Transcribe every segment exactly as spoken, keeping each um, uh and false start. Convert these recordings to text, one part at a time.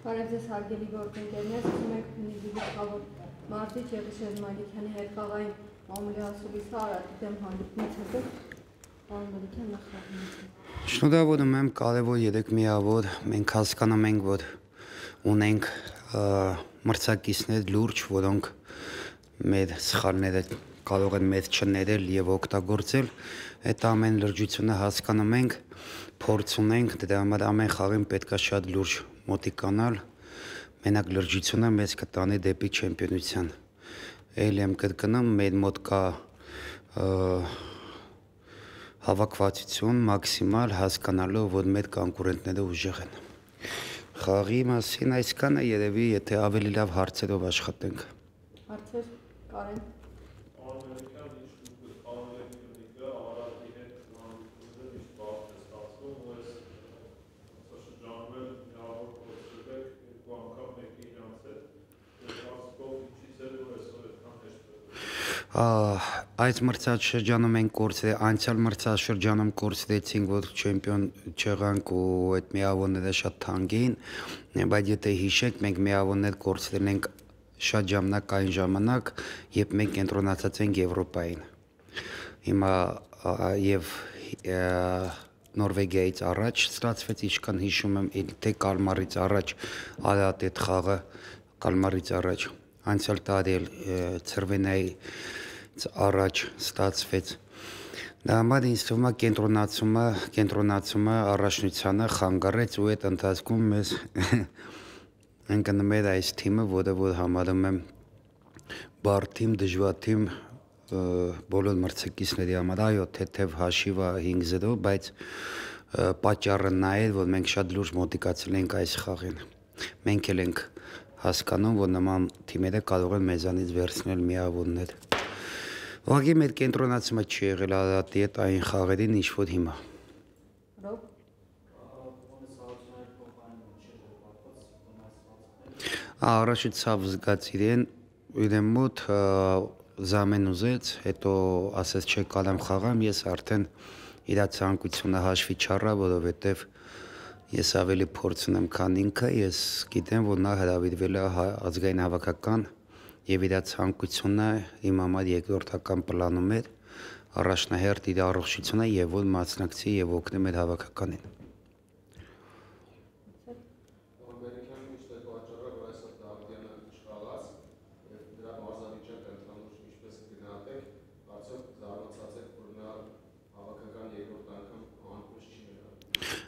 Բարև ձեզ հարգելի գործընկերներ, ասում եք նիզի գլխավոր Մարտիչ եւ Շեզ Մալիքյանի հետ խաղային մամուլի ասուլիսը Արարատի դեմ հանդիպումից հետո պարոն Մալիքյան նախահայտում։ Շնորհավորում եմ, կարևոր երեք միավոր, մենք հասկանում ենք, որ ունենք մրցակիցներ լուրջ, որոնք մեր սխալները կարող են մեզ չներել եւ օգտագործել, այդ ամեն լրջությունը հասկանում ենք, փորձ ունենք, դրա համար ամեն խաղին պետք է շատ լուրջ մոտիկանալ, մենակ լրջությունը մեզ կտանի դեպի չեմպիոնության։ Էլ եմ կրկնում, մեր մոտ կա հավաքվածություն մաքսիմալ հասկանալով, որ մեր կոնկուրենտները ուժեղ են։ Խաղի մասին այսքանը, երևի, եթե ավելի լավ հարցերով աշխատենք։ Հարցեր, Կարեն։ Այս մրցաշրջանում ենք կորցրել, անցյալ մրցաշրջանում կորցրեցինք, որ չեմպիոն չեղանք ու այդ միավորները շատ թանկ էին, բայց եթե հիշեք, մենք միավորներ կորցրել ենք շատ ժամանակ այն ժամանակ, երբ մենք կենտրոնացած ենք Եվրոպային։ Հիմա եւ Նորվեգիայից առաջ ստացվեց, ինչքան հիշում եմ, թե Կալմարից առաջ Արարատ այդ խաղը Կալմարից առաջ անցյալ տարի էլ Ցրվենայից առաջ ստացվեց։ Դա համար ինձ թվում է կենտրոնացումը, կենտրոնացումը առաջնությանը խանգարեց ու այդ ընթացքում մեզ ընկնում էր այս թիմը, որը որ համարում եմ բարդ թիմ, դժվար թիմ բոլոր մրցակիցների համար, այո, թեթև հաշիվը հինգ զիրո, բայց պատճառը նա էր, որ մենք շատ լուրջ մոտիկացել ենք այս խաղին։ Մենք էլ ենք հասկանում, որ նման թիմերը կարող են մեզանից վերցնել միավորներ։ Ուղղակի մեր կենտրոնացումը չի եղել Արարատի հետ այն խաղերին, ինչ որ հիմա։ Առաջի ցավ զգաց իրեն, իրեն մոտ զամեն ուզեց, հետո ասեց չէ կարամ խաղամ, ես արդեն իր ցանկությունը հաշվի չառա, որովհետև ես ավելի փորձ ունեմ, քան ինքը, ես գիտեմ, որ նա հրավիրվել է ազգային հավաքական եւ իր ցանկությունը իմ համար երկրորդական պլանում էր, առաջնահերթ իր առողջությունը եւ որ մասնակցի եւ օգնի մեր հավաքականին։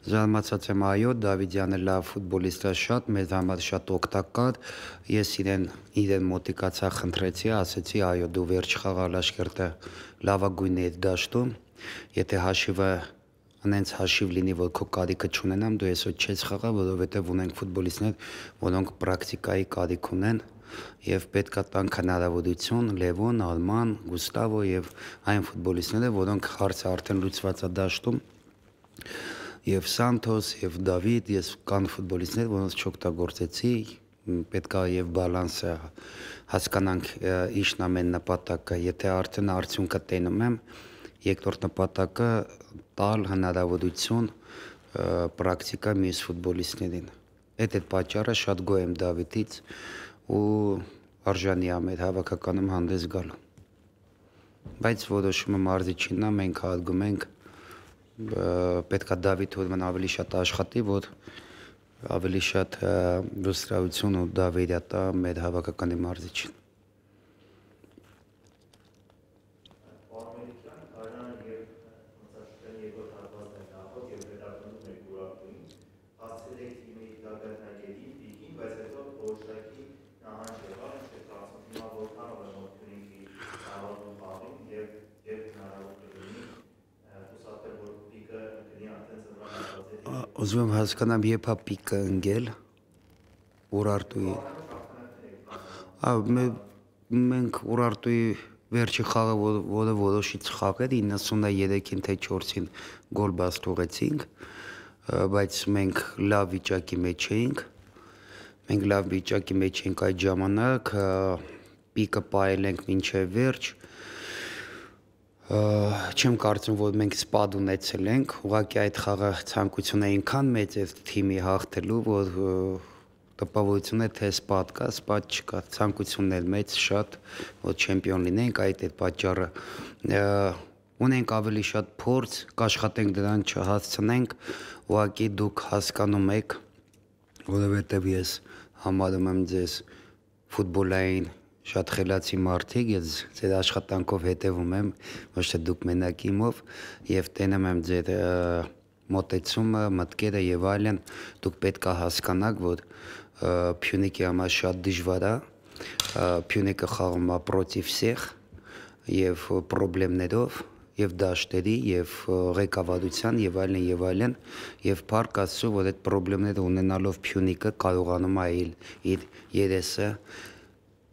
Զարմացած եմ, այո, Դավիթյանը լավ ֆուտբոլիստ է շատ, մեզ համար շատ օգտակար, ես իրեն իրեն մոտիկացա, խնդրեցի, ասեցի, այո, դու վերջ խաղալ Աշկերտը լավագույնն է դաշտում, եթե հաշիվը անենց հաշիվ լինի, որ քո կարիքը չունենամ, դու այսօր չես խաղա, որովհետև ունենք ֆուտբոլիստներ, որոնք պրակտիկայի կարիք ունեն եւ պետք է տանք հնարավորություն Լևոն, Արման, Գուստավո եւ այն ֆուտբոլիստները, որոնք հարցը արդեն լուծված է դաշտում եւ Սանթոս եւ Դավիթ, ես կան ֆուտբոլիստներ, որոնց չօգտագործեցի, պետք է եւ բալանսը հասկանանք ինչն է մեր նպատակը, եթե արդեն արդյունքը տենում եմ, երկրորդ նպատակը տալ հնարավորություն պրակտիկա մյուս ֆուտբոլիստներին։ Այդ այդ պատճառը շատ գոհ եմ Դավիթից ու արժանի է մեր հավաքականում հանդես գալու։ Բայց որոշումը մարզիչինն է, մենք հարգում ենք պետք է Դավիթ Հուրման ավելի շատ աշխատի, որ ավելի շատ վստահություն ու դավերյա տա մեր հավաքականի մարզիչին։ Ուզում եմ հասկանամ, երբ է պիկը ընկել Ուրարտուի։ Մենք Ուրարտուի վերջի խաղը, որը որոշիչ խաղ էր, իննսուններեքին թե չորսին գոլ բաց թողեցինք, բայց մենք լավ վիճակի մեջ էինք։ Մենք լավ վիճակի մեջ էինք այդ ժամանակ, պիկը պահել ենք մինչև վերջ։ Չեմ կարծում, որ մենք սպադ ունեցել ենք, ուղղակի այդ խաղը ցանկությունը այնքան մեծ էր թիմի հաղթելու, որ տպավորություն է թե սպատ կա, սպատ չկա, ցանկությունն էլ մեծ շատ, որ չեմպիոն լինենք, այդ է պատճառը։ Ունենք ավելի շատ փորձ, կաշխատենք դրան չհասցնենք, ուղղակի դուք հասկանում եք, որովհետև ես համարում եմ ձեզ ֆուտբոլային շատ խելացի մարդիկ, ես ձեր աշխատանքով հետևում եմ, ոչ թե դուք մենակ իմով, եւ տենում եմ ձեր մոտեցումը, մտքերը եւ այլն, դուք պետք է հասկանաք, որ Փյունիկի համար շատ դժվար է, Փյունիկը խաղում է против всех եւ խնդիրներով եւ դաշտերի եւ ղեկավարության եւ այլն եւ այլն եւ փառք Աստծո, որ այդ խնդիրները ունենալով Փյունիկը կարողանում է իր երեսը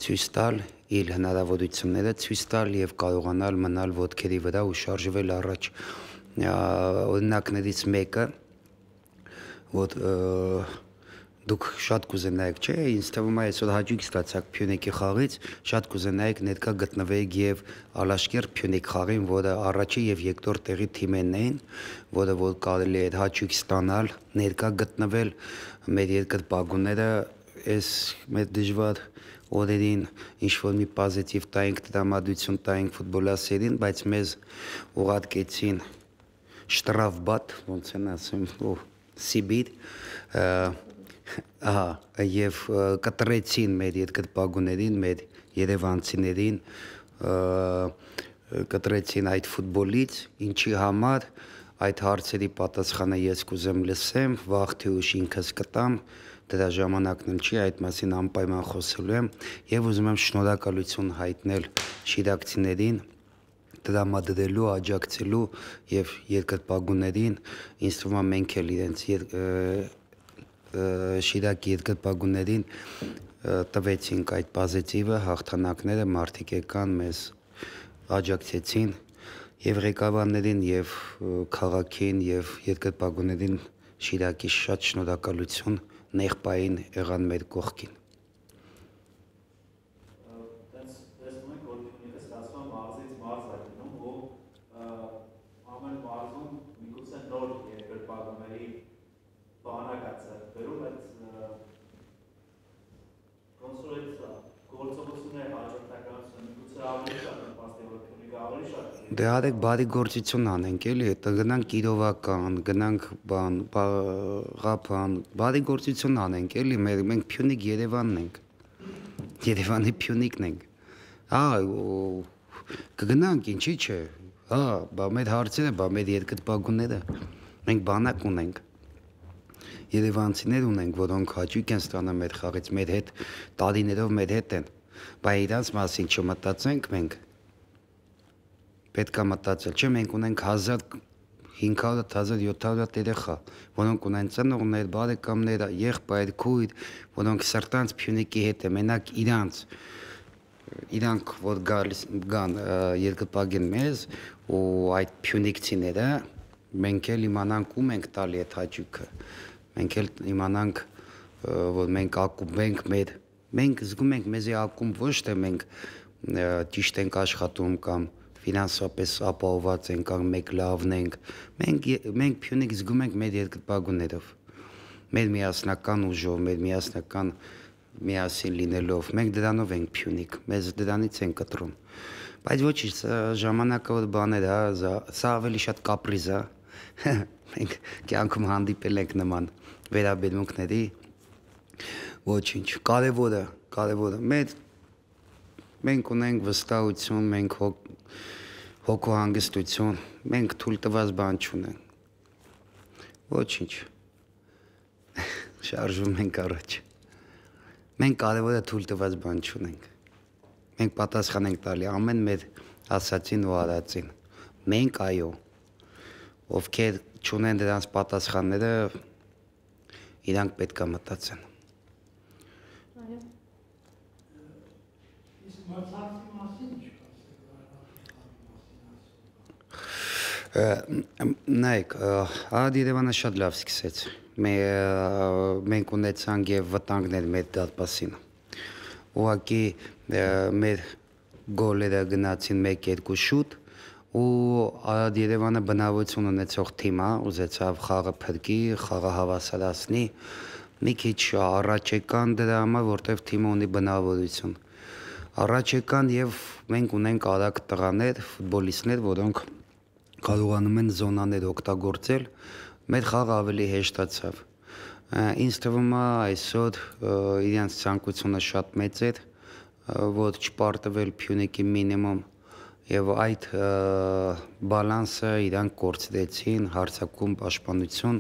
ցույց տալ, իր հնարավորությունները ցույց տալ եւ կարողանալ մնալ ոտքերի վրա ու շարժվել առաջ։ Օրինակներից մեկը, որ դուք շատ կուզենայիք, չէ, ինձ թվում է այսօր հաճույք ստացաք Փյունիկի խաղից, շատ կուզենայիք ներկա գտնվեիք եւ Ալաշկերտ Փյունիկ խաղին, որը առաջի եւ երկրորդ տեղի թիմերն էին, որը որ կարելի է հաճույք ստանալ, ներկա գտնվել մեր երկրպագուները այս մեր դժվար օրերին ինչ որ մի պոզիտիվ տայինք, տրամադրություն տայինք ֆուտբոլասերին, բայց մեզ ուղարկեցին շտրաֆբատ, ոնց են ասում, Սիբիր, ահա, եւ կտրեցին մեր երկրպագուներին, մեր երևանցիներին, կտրեցին այդ ֆուտբոլից, ինչի համար այդ հարցերի պատասխանը ես կուզեմ լսեմ, վաղ թե ուշ ինքս կտամ, դրա ժամանակն էլ չի, այդ մասին անպայման խոսելու եմ եւ ուզում եմ շնորհակալություն հայտնել շիրակցիներին, տրամադրելու, աջակցելու եւ երկրպագուներին, ինձ թվում է մենք էլ իրենց Շիրակի երկրպագուներին տվեցինք այդ պոզիտիվը, հաղթանակները, մարդիկ եկան մեզ աջակցեցին եւ ղեկավարներին եւ քաղաքին եւ երկրպագուներին Շիրակի շատ շնորհակալություն, նեղբային եղան մեր կողքին։ Դե արեք բարի գործություն անենք, էլի, հետո գնանք Կիրովական, գնանք բան, Ղափան, բարի գործություն անենք, էլի, մենք Փյունիկ Երևանն ենք, Երևանի Փյունիկն ենք, հա, կգնանք, ինչի՞ չէ, հա, բա մեր հարցերը, բա մեր երկրպագուները, մենք բանակ ունենք, երևանցիներ ունենք, որոնք հաճույք են ստանում մեր խաղից, մեր հետ, տարիներով մեր հետ են, բա իրանց մասին չմտածենք մենք, պետք է մտածել, չէ, մենք ունենք հազար հինգ հարյուր հազար յոթ հարյուր երեխա, որոնք ունեն ծնողներ, բարեկամներ, եղբայր, քույր, որոնք սրտանց Փյունիկի հետ է, մենակ իրանց, իրանք որ գալիս գան երկրպագեն մեզ ու այդ փյունիկցիները, մենք էլ իմանանք ում ենք տալի այդ հաճույքը, մենք էլ իմանանք, որ մենք ակումբ ենք մեր, մենք զգում ենք մեզի ակումբ ոչ թե մենք ճիշտ ենք աշխատում կամ ֆինանսապես ապահովված ենք կամ մեկ լավն ենք, մենք մենք Փյունիկ զգում ենք մեր երկրպագուներով, մեր միասնական ուժով, մեր միասնական միասին լինելով, մենք դրանով ենք Փյունիկ, մեզ դրանից են կտրում, բայց ոչինչ, ժամանակը որ բաներ է, սա ավելի շատ կապրիզ է, մենք կյանքում հանդիպել ենք նման վերաբերմունքների, ոչինչ, կարևորը, կարևորը, մեր մենք ունենք վստահություն, մենք հոգու հանգստություն, մենք թույլ տված բան չունենք, ոչինչ, շարժվում ենք առաջ, մենք կարևորը թույլ տված բան չունենք, մենք պատասխան ենք տալի ամեն մեր ասացին ու արածին, մենք այո, ովքեր չունեն դրանց պատասխանները, իրանք պետք է մտածեն։ Նայեք, Արադ Երևանը շատ լավ սկսեց, մենք ունեցանք և վտանգներ մեր դարպասին, ուղղակի մեր գոլերը գնացին մեկ երկու շուտ ու Արադ Երևանը բնավորություն ունեցող թիմ է, ուզեցավ խաղը փրկի, խաղը հավասարացնի, մի քիչ առաջ եկան դրա համար, որտեվ թիմը ունի բնավորություն։ Առաջ եկան եւ մենք ունենք արագ տղաներ, ֆուտբոլիստներ, որոնք կարողանում են զոնաներ օգտագործել, մեր խաղը ավելի հեշտացավ։ Ինձ թվում է այսօր իրենց ցանկությունը շատ մեծ էր, որ չպարտվել Փյունիկի մինիմում եւ այդ բալանսը իրանք կորցրեցին, հարձակում, պաշտպանություն,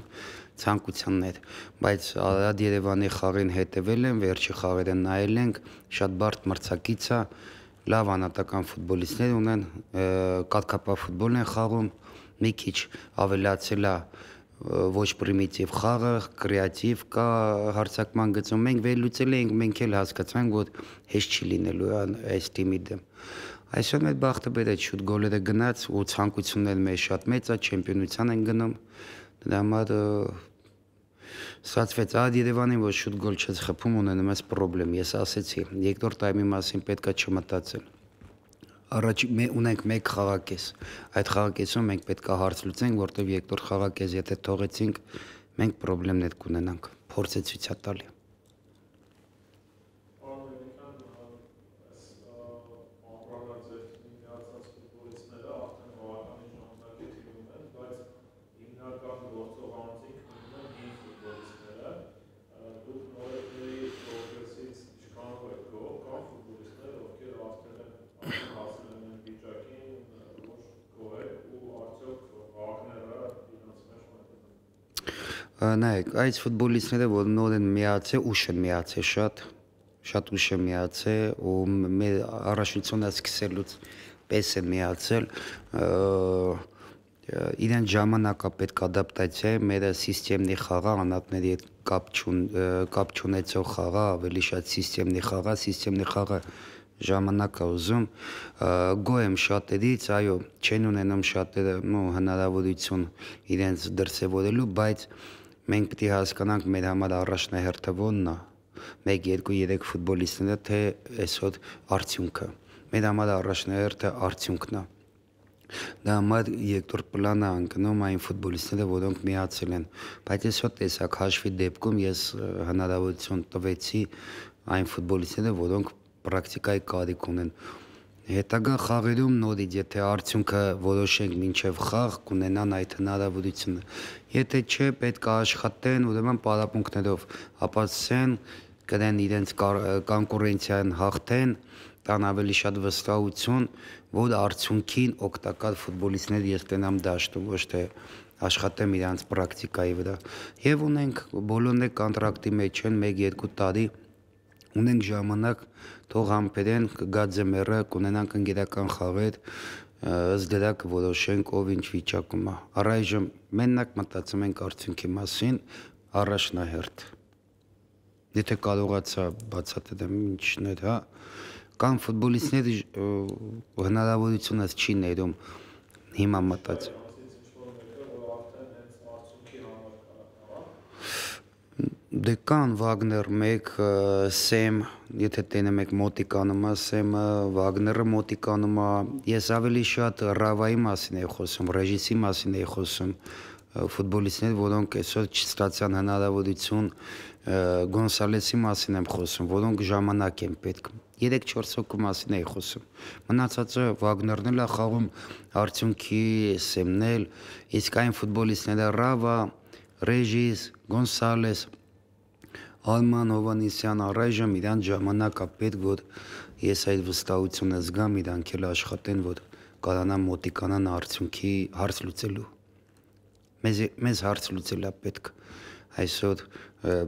ցանկություններ, բայց Արադ Երևանի խաղին հետևել են, վերջի խաղերը նայել ենք, շատ բարդ մրցակից է, լավ անհատական ֆուտբոլիստներ ունեն, կարգապահ ֆուտբոլ են խաղում, մի քիչ ավելացել է ոչ պրիմիտիվ խաղը, կրեատիվ կա հարձակման գծում, մենք վերլուծել ենք, մենք էլ հասկացանք, որ հեշտ չի լինելու այս թիմի դեմ։ Այսօր մեր բախտը բերեց շուտ գոլերը գնաց ու ցանկությունները մեր շատ մեծ է, չեմպիոնության են գնում, դրա համար ստացվեց Արադ Երևանին, որ շուտ գոլ չես խփում, ունենում ես պրոբլեմ, ես ասեցի, երկրորդ տայմի մասին պետք է չմտածել։ Առաջ ունենք մեկ խաղակես, այդ խաղակեսում մենք պետք է հարց լուծենք, որտեղ երկրորդ խաղակես եթե թողեցինք, մենք պրոբլեմներ կունենանք, փորձ է ցույց տալի։ Նայեք, այս ֆուտբոլիստները, որ նոր են միացել, ուշ են միացել շատ, շատ ուշ են միացել ու մեր առաջնությունը սկսելուց պես են միացել, իրեն ժամանակա պետք ադապտացիա է, մեր սիստեմնի խաղա, անհատների հետ կապ չունեցող խաղա, ավելի շատ սիստեմնի խաղա, սիստեմնի խաղը ժամանակ է ուզում, գոհ եմ շատերից, այո, չեն ունենում շատերը հնարավորություն իրենց դրսևորելու, բայց մենք պետք է հասկանանք մեր համար առաջնահերթը ո՞նն է, մեկ, երկու, երեք ֆուտբոլիստները, թե այսօր արդյունքը։ Մեր համար առաջնահերթը արդյունքն է։ Դա համար երկրորդ պլանը անկնում այն ֆուտբոլիստները, որոնք միացել են, բայց այսօր տեսակ հաշվի դեպքում ես հնարավորություն տվեցի այն ֆուտբոլիստները, որոնք պրակտիկայի կարիք ունեն։ Հետագա խաղերում նորից, եթե արդյունքը որոշենք մինչև խաղ, կունենան այդ հնարավորությունը։ Եթե չէ, պետք է աշխատեն, ուրեմն պարապմունքներով ապացուցեն, կրեն իրենց կոնկուրենցիան հաղթեն, տան ավելի շատ վստահություն, որ արդյունքին օգտակար ֆուտբոլիստներ ես տենամ դաշտում, ոչ թե աշխատեմ իրանց պրակտիկայի վրա։ Եվ ունենք բոլորները կոնտրակտի մեջ են մեկ երկու տարի, ունենք ժամանակ, թող համբերեն, կգա ձմեռը, կունենանք ընկերական խաղեր, ըստ դրա կորոշենք ով ինչ վիճակում է։ Առայժմ մենակ մտածում ենք արդյունքի մասին, առաջնահերթ։ Եթե կարողացա բացատրեմ ինչն էր, հա, կան ֆուտբոլիստներ հնարավորությունս չի ներում հիմա մտածել։ Դե կան Վագներ մեկ, Սեմ, եթե տենեմ եք մոտիկանում է, Սեմը, Վագները մոտիկանում է, ես ավելի շատ Ռավայի մասին էի խոսում, ռեժիսի մասին էի խոսում, ֆուտբոլիստներ, որոնք այսօր չստացան հնարավորություն, Գոնսալեսի մասին եմ խոսում, որոնք ժամանակ են պետք, երեք-չորս հոգու մասին էի խոսում, մնացածը Վագներն էլ է խաղում, արդյունքի Սեմն էլ, իսկ այն ֆուտբոլիստները Ռավա, Ռեժիս, Գոնսալես, Արման Հովանեսյան առայժմ իրան ժամանակա պետք, որ ես այդ վստահությունը զգամ, իրանք էլ աշխատեն, որ կարանան մոտիկանան արդյունքի հարց լուծելու։ Մեզ հարց լուծել է պետք, այսօր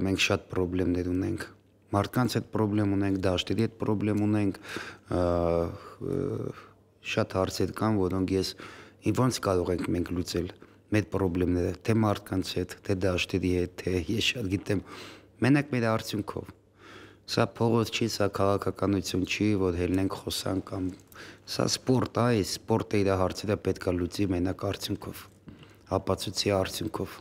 մենք շատ պրոբլեմներ ունենք, մարդկանց հետ պրոբլեմ ունենք, դաշտերի հետ պրոբլեմ ունենք, շատ հարցեր կան, որոնք ես ոնց կարող ենք մենք լուծել մեր պրոբլեմները, թե մարդկանց հետ, թե դաշտերի հետ, թե ես շատ գիտեմ, մենակ մեր արդյունքով։ Սա փողոց չի, սա քաղաքականություն չի, որ հելնենք խոսանք կամ սա սպորտ է, այս սպորտը իր հարցերը պետք է լուծի մենակ արդյունքով, ապացուցի արդյունքով։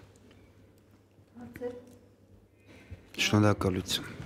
Շնորհակալություն։